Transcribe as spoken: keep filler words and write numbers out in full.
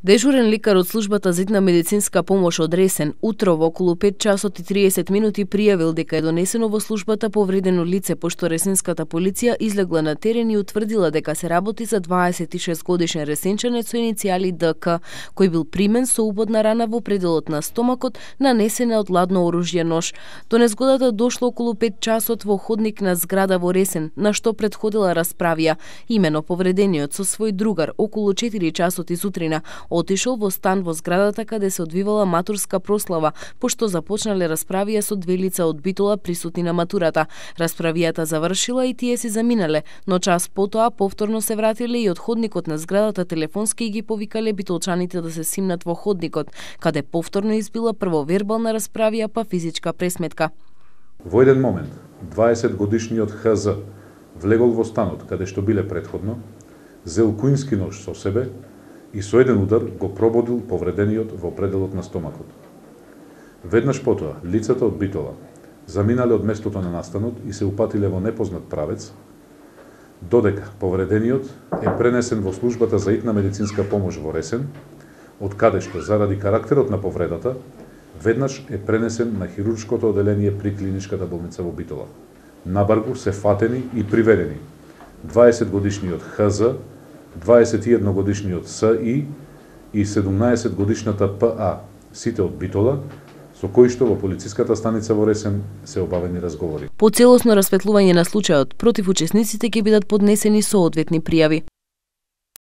Дежурен лекар од службата за итна медицинска помош од Ресен утро во околу пет часот и триесет минути пријавил дека е донесено во службата повредено лице, пошто ресенската полиција излегла на терен и утврдила дека се работи за дваесет и шест годишен ресенчанец со иницијали Д К, кој бил примен со убодна рана во пределот на стомакот, нанесена од ладно оружје нож. До незгодата дошло околу пет часот во ходник на зграда во Ресен, на што предходила расправија. Имено повредениот со свој другар околу четири часот и сутрина отишол во стан во зградата каде се одвивала матурска прослава, пошто започнале расправија со две лица од Битола присутни на матурата. Расправијата завршила и тие си заминале, но час потоа повторно се вратиле и од ходникот на зградата телефонски ги повикале битолчаните да се симнат во ходникот, каде повторно избила прво вербална расправија па физичка пресметка. Во еден момент, дваесет годишниот Х З влегол во станот каде што биле предходно, зел куински нож со себе и со еден удар го прободил повредениот во пределот на стомакот. Веднаш потоа, лицата од Битола заминале од местото на настанот и се упатиле во непознат правец, додека повредениот е пренесен во службата за итна медицинска помош во Ресен, од каде што заради карактерот на повредата, веднаш е пренесен на хируршкото оделение при клиничката болница во Битола. На Баргу се фатени и приведени дваесет годишниот Х З, дваесет и едно годишниот С И и седумнаесет годишната П А, сите од Битола, со кои што во полициската станица во Ресен се обавени разговори. По целосно расветлување на случајот, против учесниците ќе бидат поднесени соодветни пријави.